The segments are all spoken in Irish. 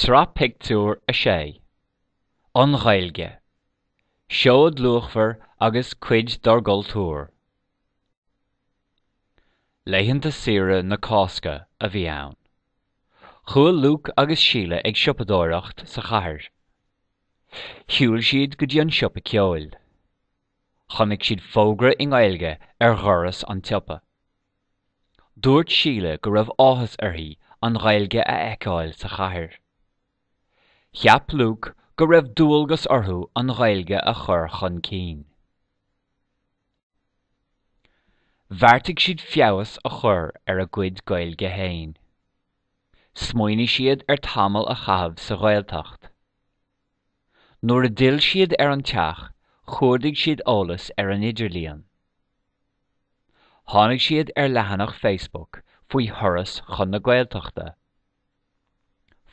Sraith Pictiúr 6. An Ghaeilge. Seoid luachmhar agus cuid dár gcultúr. Laethanta saoire na Cásca a bhí ann. Chuaigh Luke agus Síle ag siopadóireacht sa chathair. Shiúil siad go dtí an siopa ceoil. Chonaic siad fógra i nGaeilge ar dhoras an tsiopa. Dúirt Síle go raibh áthas uirthi an Ghaeilge a fheiceáil sa chathair. Cheap Luke go raibh dualgas orthu an Ghaeilge a chur chun cinn. Bheartaigh siad feabhas a chur ar a gcuid Gaeilge féin. Smaoinigh siad ar tamall a chaitheamh sa Ghaeltacht. Nuair a d'fhill siad ar an teach, chuardaigh siad eolas ar an idirlíon. Tháinig siad ar leathanach Facebook faoi thuras chun na Gaeltachta.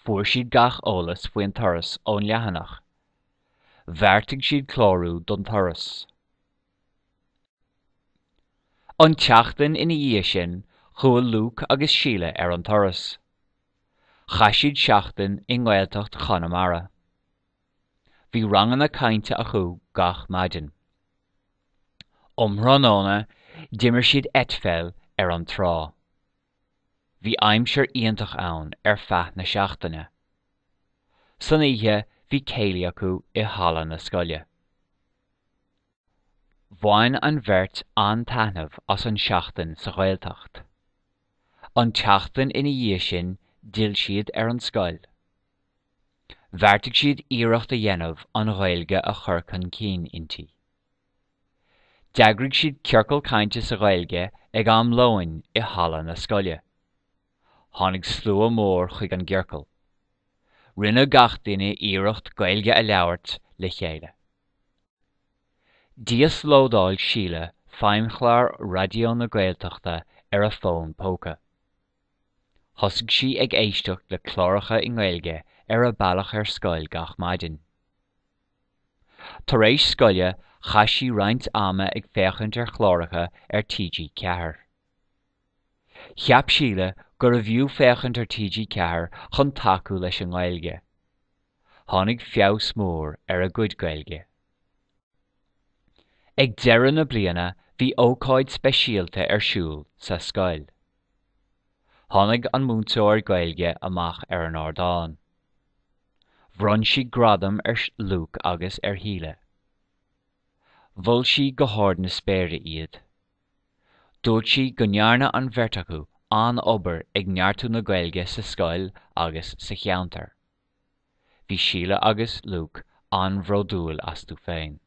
Fuair siad gach eolas faoin turas ón leathanach. Bheartaigh siad clárú don turas. An tseachtain ina dhiaidh sin, chuaigh Luke agus Síle ar an turas. Chaith siad seachtain i nGaeltacht Chonamara. Bhí ranganna cainte acu gach maidin. Um thráthnóna, d'imir siad eitpheil ar an trá. Bhí aimsir iontach ann ar feadh na seachtaine. San oíche, bhí céilí acu i halla na scoile. Bhain an bheirt an-taitneamh as an seachtain sa Ghaeltacht. An tseachtain ina dhiaidh sin d'fhill siad ar an scoil. Bheartaigh siad iarracht a dhéanamh an Ghaeilge a chur chun cinn inti. D'eagraigh siad ciorcal cainte sa Ghaeilge ag am lóin i halla na scoile. Tháinig slua mór chuig an gciorcal. Rinne gach duine iarracht Gaeilge a labhairt le chéile. D'íoslódáil Síle feidhmchlár Raidió na Gaeltachta ar a fón póca. Thosaigh sí ag éisteacht le cláracha i nGaeilge ar a bealach ar scoil gach maidin. Tar éis scoile chaith sí roinnt ama ag féachaint ar chláracha ar TG4. Cheap Síle gurbh fhiú féachaint ar TG4 chun tacú leis an nGaeilge. Tháinig feabhas mór ar a gcuid Gaeilge. Ag deireadh na bliana bhí ócáid speisialta ar siúl sa scoil. Tháinig an múinteoir Gaeilge amach ar an ardán. Bhronn sí gradam ar Luke agus ar Shíle. Mhol sí go hard na spéire iad. Dúirt sí go ndearna an bheirt acu an-obair ag neartú na Gaeilge sa scoil agus sa cheantar. Bhí Síle agus Luke an-bhródúil astu féin.